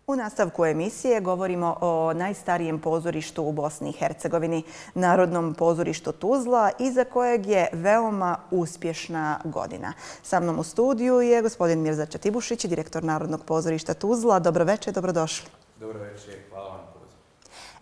U nastavku emisije govorimo o najstarijem pozorištu u Bosni i Hercegovini, Narodnom pozorištu Tuzla, iza kojeg je veoma uspješna godina. Sa mnom u studiju je gospodin Mirza Čatibušić, direktor Narodnog pozorišta Tuzla. Dobro večer, dobrodošli. Dobro večer, hvala vam.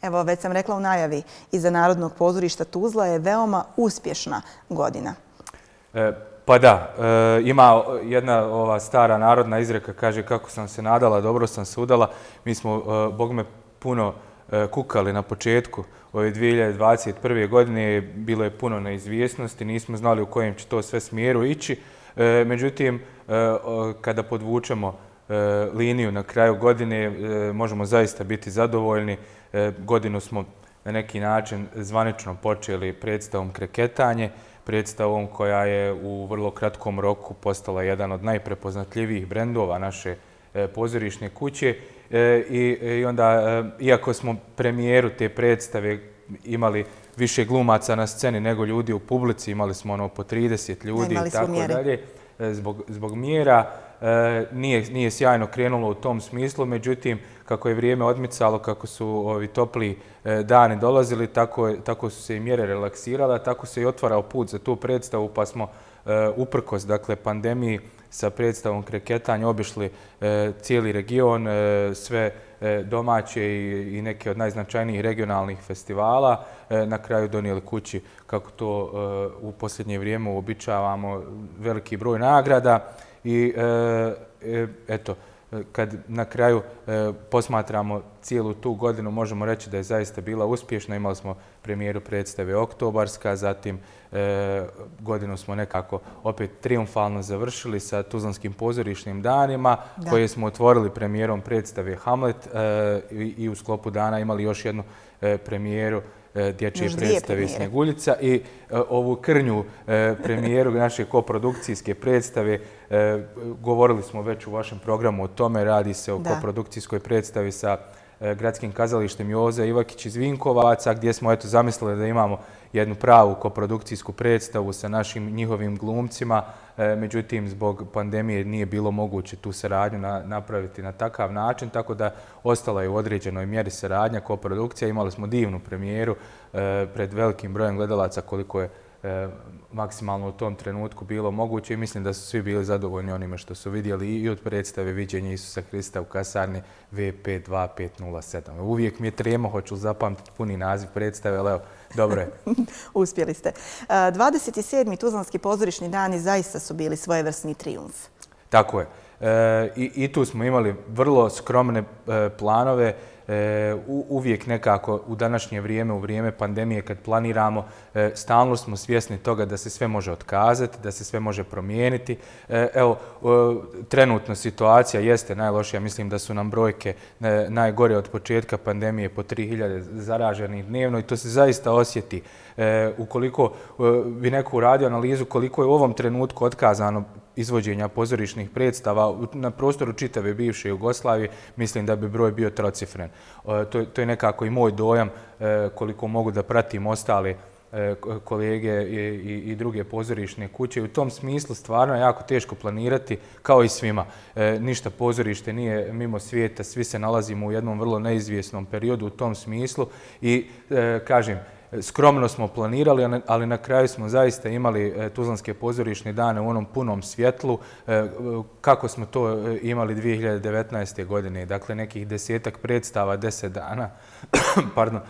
Evo, već sam rekla u najavi, iza Narodnog pozorišta Tuzla je veoma uspješna godina. Pa da, ima jedna ova stara narodna izreka, kaže kako sam se nadala, dobro sam se udala. Mi smo, bogme, puno kukali na početku ove 2021. godine, bilo je puno neizvjesnosti, nismo znali u kojem će to sve smjeru ići. Međutim, kada podvučemo liniju na kraju godine, možemo zaista biti zadovoljni. Godinu smo na neki način zvanično počeli predstavom Kreketanje, predstavom koja je u vrlo kratkom roku postala jedan od najprepoznatljivijih brendova naše pozorišne kuće. I onda, iako smo premijeru te predstave imali više glumaca na sceni nego ljudi u publici, imali smo po 30 ljudi i tako dalje, zbog mjera, nije sjajno krenulo u tom smislu, međutim, kako je vrijeme odmicalo, kako su ovi topli dani dolazili, tako su se i mjere relaksirale, tako se i otvarao put za tu predstavu, pa smo uprkos pandemiji sa predstavom Kreketanje obišli cijeli region, sve domaće i neke od najznačajnijih regionalnih festivala, na kraju donijeli kući, kako to u posljednje vrijeme uobičavamo, veliki broj nagrada. I eto, kad na kraju posmatramo cijelu tu godinu, možemo reći da je zaista bila uspješna. Imali smo premijeru predstave Oktobarska, zatim godinu smo nekako opet triumfalno završili sa Tuzlanskim pozorišnim danima, koje smo otvorili premijerom predstave Hamlet i u sklopu dana imali još jednu premijeru dječje predstave Snjeguljica i ovu krnju premijeru naše koprodukcijske predstave. Govorili smo već u vašem programu o tome, radi se o koprodukcijskoj predstavi sa Gradskim kazalištem Joze Ivakić iz Vinkovaca, gdje smo zamislili da imamo jednu pravu koprodukcijsku predstavu sa našim njihovim glumcima. Međutim, zbog pandemije nije bilo moguće tu saradnju napraviti na takav način, tako da ostala je u određenoj mjeri saradnja, koprodukcija. Imali smo divnu premijeru pred velikim brojem gledalaca, koliko je maksimalno u tom trenutku bilo moguće, i mislim da su svi bili zadovoljni onime što su vidjeli i od predstave Viđenje Isusa Krista u kasarni V52507. Uvijek mi je trema, hoću zapamtiti puni naziv predstave, ali evo, dobro je. Uspjeli ste. 27. Tuzlanski pozorišni dani zaista su bili svojevrsni trijumf. Tako je. I tu smo imali vrlo skromne planove. Uvijek nekako u današnje vrijeme, u vrijeme pandemije, kad planiramo, stalno smo svjesni toga da se sve može otkazati, da se sve može promijeniti. Evo, trenutno situacija jeste najlošija. Mislim da su nam brojke najgore od početka pandemije, po 3000 zaraženih dnevno, i to se zaista osjeti. Ukoliko bi neko uradio analizu koliko je u ovom trenutku otkazano izvođenja pozorišnih predstava na prostoru čitave bivše Jugoslavije, mislim da bi broj bio trocifren. To je nekako i moj dojam, koliko mogu da pratim ostale kolege i druge pozorišne kuće. U tom smislu stvarno je jako teško planirati, kao i svima. Ništa pozorište nije mimo svijeta, svi se nalazimo u jednom vrlo neizvjesnom periodu u tom smislu i kažem, skromno smo planirali, ali na kraju smo zaista imali Tuzlanske pozorišne dane u onom punom svjetlu, kako smo to imali 2019. godine. Dakle, nekih 10-ak predstava, 10 dana. Pardon,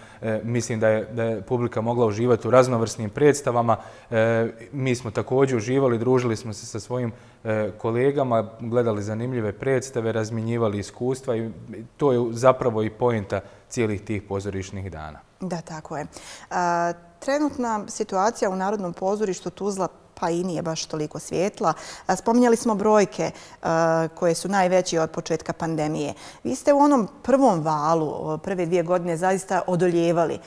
mislim da je publika mogla uživati u raznovrsnim predstavama. Mi smo također uživali, družili smo se sa svojim kolegama, gledali zanimljive predstave, razmjenjivali iskustva, i to je zapravo i poenta cijelih tih pozorišnih dana. Da, tako je. Trenutna situacija u Narodnom pozorištu Tuzla pa i nije baš toliko svijetla. Spominjali smo brojke koje su najveće od početka pandemije. Vi ste u onom prvom valu, prve 2 godine, zaista odoljevali.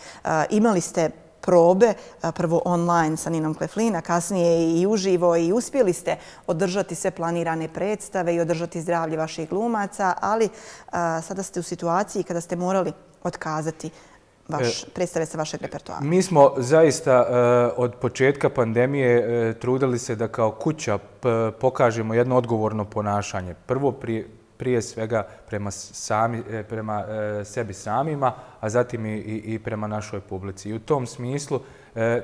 Imali ste probe, prvo online sa Ninom Kleflin, a kasnije i uživo, i uspjeli ste održati sve planirane predstave i održati zdravlje vaših glumaca, ali sada ste u situaciji kada ste morali otkazati predstave sa vašeg repertoara. Mi smo zaista od početka pandemije trudili se da kao kuća pokažemo jedno odgovorno ponašanje. Prvo prije svega prema sebi samima, a zatim i prema našoj publici. I u tom smislu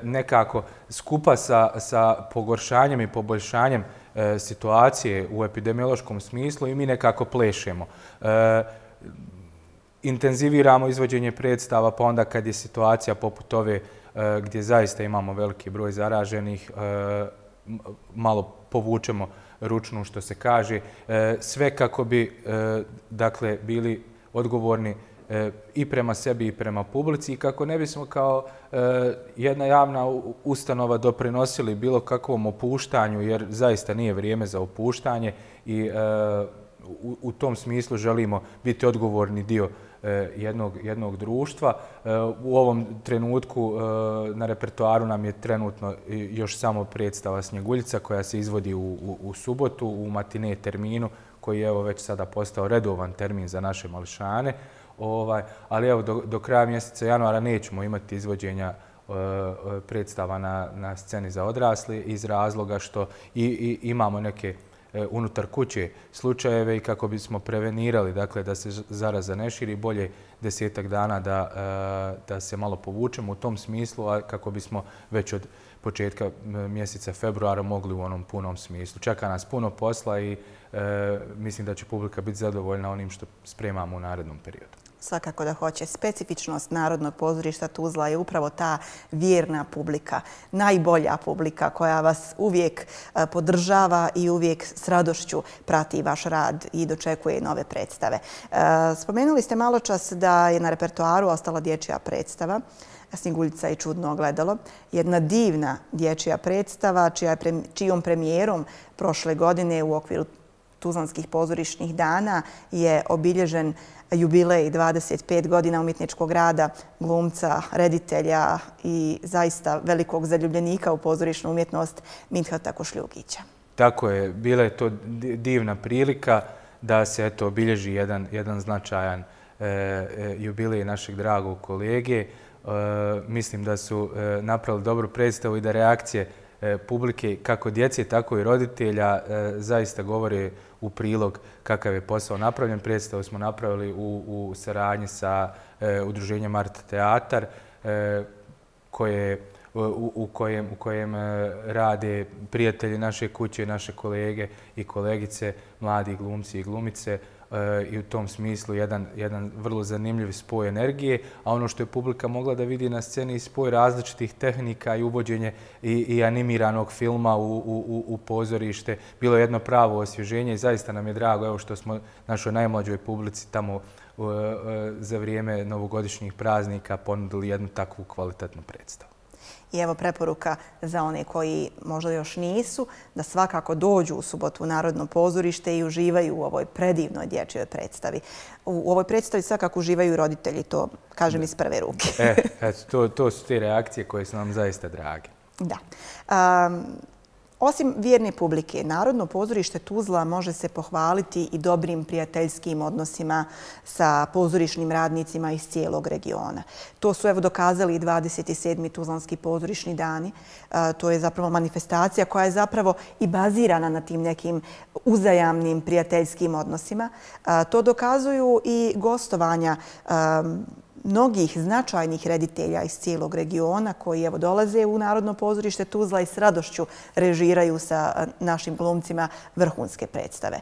nekako skupa sa pogoršanjem i poboljšanjem situacije u epidemiološkom smislu i mi nekako plešemo. Intenziviramo izvođenje predstava, pa onda kad je situacija poput ove gdje zaista imamo veliki broj zaraženih, malo povučemo ručnu, što se kaže, sve kako bi dakle bili odgovorni i prema sebi i prema publici i kako ne bismo kao jedna javna ustanova doprinosili bilo kakvom opuštanju, jer zaista nije vrijeme za opuštanje i u tom smislu želimo biti odgovorni dio jednog društva. U ovom trenutku na repertoaru nam je trenutno još samo predstava Snjeguljica koja se izvodi u subotu u matine terminu koji je evo već sada postao redovan termin za naše mališane. Ali evo do kraja mjeseca januara nećemo imati izvođenja predstava na sceni za odrasle iz razloga što imamo neke unutar kuće slučajeve i kako bismo prevenirali dakle, da se zaraza ne širi, bolje 10-ak dana da se malo povučemo u tom smislu, a kako bismo već od početka mjeseca februara mogli u onom punom smislu. Čeka nas puno posla i mislim da će publika biti zadovoljna onim što spremamo u narednom periodu. Svakako da hoće. Specifičnost Narodnog pozorišta Tuzla je upravo ta vjerna publika, najbolja publika koja vas uvijek podržava i uvijek s radošću prati vaš rad i dočekuje nove predstave. Spomenuli ste malo čas da je na repertoaru ostala dječja predstava Snjeguljica i čudno ogledalo. Jedna divna dječja predstava čijom premijerom prošle godine u okviru Tuzlanskih pozorišnih dana je obilježen jubilej 25 godina umjetničkog rada glumca, reditelja i zaista velikog zaljubljenika u pozorišnu umjetnost Midhata Košljugića. Tako je, bila je to divna prilika da se obilježi jedan značajan jubilej našeg dragog kolege. Mislim da su napravili dobru predstavu i da reakcije publike, kako djece, tako i roditelja, zaista govore u prilog kakav je posao napravljen. Predstavu smo napravili u saradnji sa udruženjem Art Teatar, u kojem rade prijatelji naše kuće, naše kolege i kolegice, mladi glumci i glumice, i u tom smislu jedan vrlo zanimljiv spoj energije, a ono što je publika mogla da vidi na sceni i spoj različitih tehnika i uvođenje i animiranog filma u pozorište, bilo je jedno pravo osvježenje i zaista nam je drago evo što smo našoj najmlađoj publici tamo za vrijeme novogodišnjih praznika ponudili jednu takvu kvalitetnu predstavu. I evo preporuka za one koji možda još nisu, da svakako dođu u subotu u Narodno pozorište i uživaju u ovoj predivnoj dječjoj predstavi. U ovoj predstavi svakako uživaju i roditelji, to kažem iz prve ruke. To su te reakcije koje su nam zaista drage. Da. Osim vjerne publike, Narodno pozorište Tuzla može se pohvaliti i dobrim prijateljskim odnosima sa pozorišnim radnicima iz cijelog regiona. To su evo dokazali i 27. Tuzlanski pozorišni dani. To je zapravo manifestacija koja je zapravo i bazirana na tim nekim uzajamnim prijateljskim odnosima. To dokazuju i gostovanja mnogih značajnih reditelja iz cijelog regiona koji evo dolaze u Narodno pozorište Tuzla i s radošću režiraju sa našim glumcima vrhunske predstave.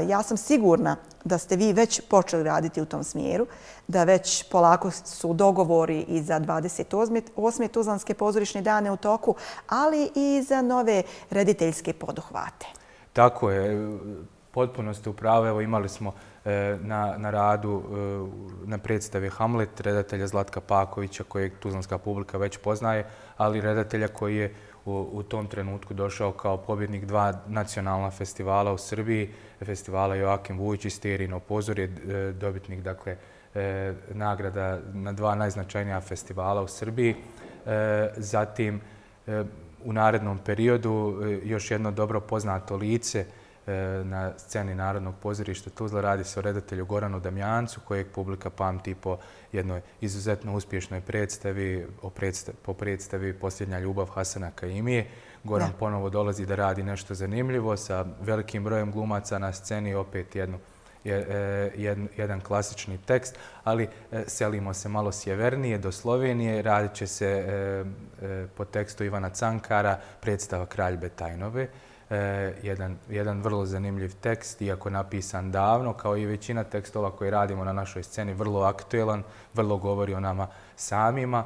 Ja sam sigurna da ste vi već počeli raditi u tom smjeru, da već polako su dogovori i za 28. Tuzlanske pozorišne dane u toku, ali i za nove rediteljske poduhvate. Tako je, potpuno ste u pravu. Evo imali smo na radu na predstavi Hamlet redatelja Zlatka Pakovića kojeg tuzlanska publika već poznaje, ali redatelja koji je u tom trenutku došao kao pobjednik 2 nacionalna festivala u Srbiji, festivala Joakim Vujić i Sterino pozorje, dobitnik dakle nagrada na 2 najznačajnija festivala u Srbiji. Zatim u narednom periodu još jedno dobro poznato lice na sceni Narodnog pozorišta Tuzla. Radi se o redatelju Goranu Damjancu, kojeg publika pamti po jednoj izuzetno uspješnoj predstavi, po predstavi Posljednja ljubav Hasana Kaimije. Goran ponovo dolazi da radi nešto zanimljivo sa velikim brojem glumaca na sceni, opet jedan klasični tekst, ali selimo se malo sjevernije do Slovenije. Radit će se po tekstu Ivana Cankara predstava Kralj Betajnove. Jedan vrlo zanimljiv tekst, iako napisan davno, kao i većina tekstova koje radimo na našoj sceni, vrlo aktuelan, vrlo govori o nama samima.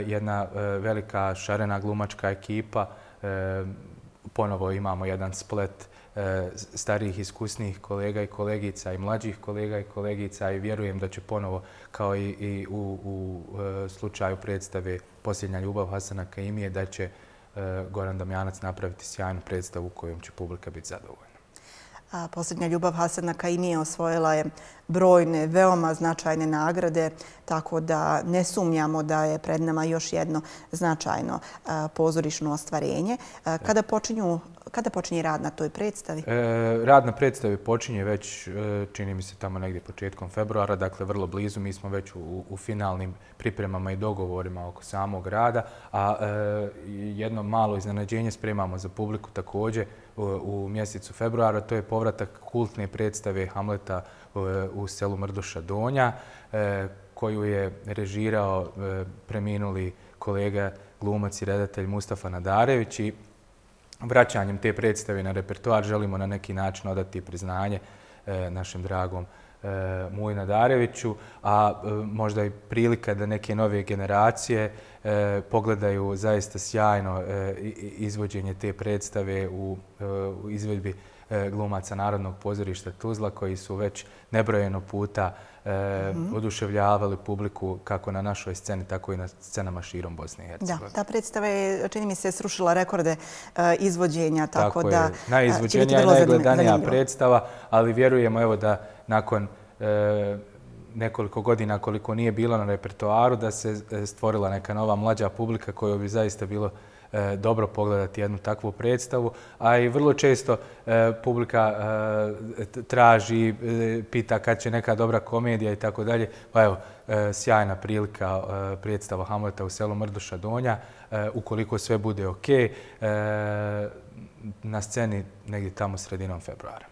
Jedna velika šarena glumačka ekipa, ponovo imamo jedan splet starijih iskusnijih kolega i kolegica i mlađih kolega i kolegica i vjerujem da će ponovo, kao i u slučaju predstave Posljednja ljubav Hasana Kaimije, da će Goran Damjanac napraviti sjajnu predstavu kojom će publika biti zadovoljna. Posljednja ljubav Hasana Kaimije osvojila je brojne, veoma značajne nagrade, tako da ne sumnjamo da je pred nama još jedno značajno pozorišno ostvarenje. Kada počinje rad na toj predstavi? Rad na predstavi počinje već, čini mi se, tamo negdje početkom februara, dakle vrlo blizu. Mi smo već u finalnim pripremama i dogovorima oko samog rada, a jedno malo iznenađenje spremamo za publiku također u mjesecu februara. To je povratak kultne predstave Hamleta u selu Mrduša Donja, koju je režirao preminuli kolega glumac i redatelj Mustafa Nadarević i vraćanjem te predstave na repertoar želimo na neki način odati priznanje našem dragom Muji Nadareviću, a možda i prilika da neke nove generacije pogledaju zaista sjajno izvođenje te predstave u izvedbi glumaca Narodnog pozorišta Tuzla, koji su već nebrojeno puta oduševljavali publiku kako na našoj sceni, tako i na scenama širom Bosne i Hercegovine. Da, ta predstava je, čini mi se, srušila rekorde izvođenja, tako da je najizvođenija i najgledanija predstava, ali vjerujemo evo da nakon nekoliko godina koliko nije bilo na repertoaru, da se stvorila neka nova mlađa publika kojoj bi zaista bilo dobro pogledati jednu takvu predstavu, a i vrlo često publika traži, pita kad će neka dobra komedija i tako dalje. Pa evo, sjajna prilika predstava Hamleta u selu Mrduša Donja, ukoliko sve bude ok, na sceni negdje tamo sredinom februara.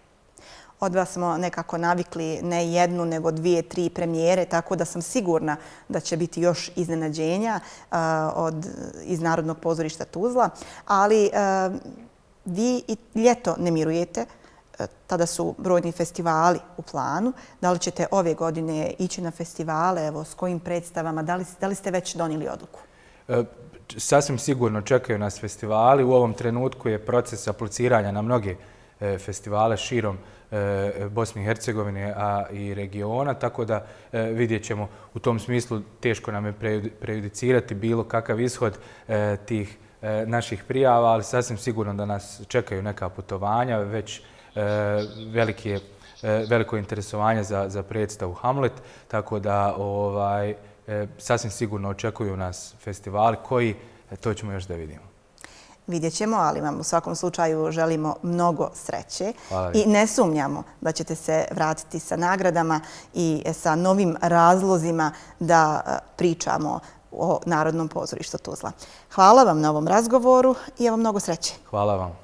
Od vas smo nekako navikli ne jednu, nego 2, 3 premijere, tako da sam sigurna da će biti još iznenađenja iz Narodnog pozorišta Tuzla. Ali vi i ljeto ne mirujete, tada su brojni festivali u planu. Da li ćete ove godine ići na festivale, evo, s kojim predstavama, da li ste već donijeli odluku? Sasvim sigurno čekaju nas festivali. U ovom trenutku je proces apliciranja na mnoge festivale širom Bosne i Hercegovine, a i regiona, tako da vidjet ćemo u tom smislu. Teško nam je prejudicirati bilo kakav ishod tih naših prijava, ali sasvim sigurno da nas čekaju neka putovanja, već veliko interesovanje za predstavu Hamlet, tako da sasvim sigurno očekuju nas festivali koji, to ćemo još da vidimo. Vidjet ćemo, ali vam u svakom slučaju želimo mnogo sreće i ne sumnjamo da ćete se vratiti sa nagradama i sa novim razlozima da pričamo o Narodnom pozorištu Tuzla. Hvala vam na ovom razgovoru i evo mnogo sreće. Hvala vam.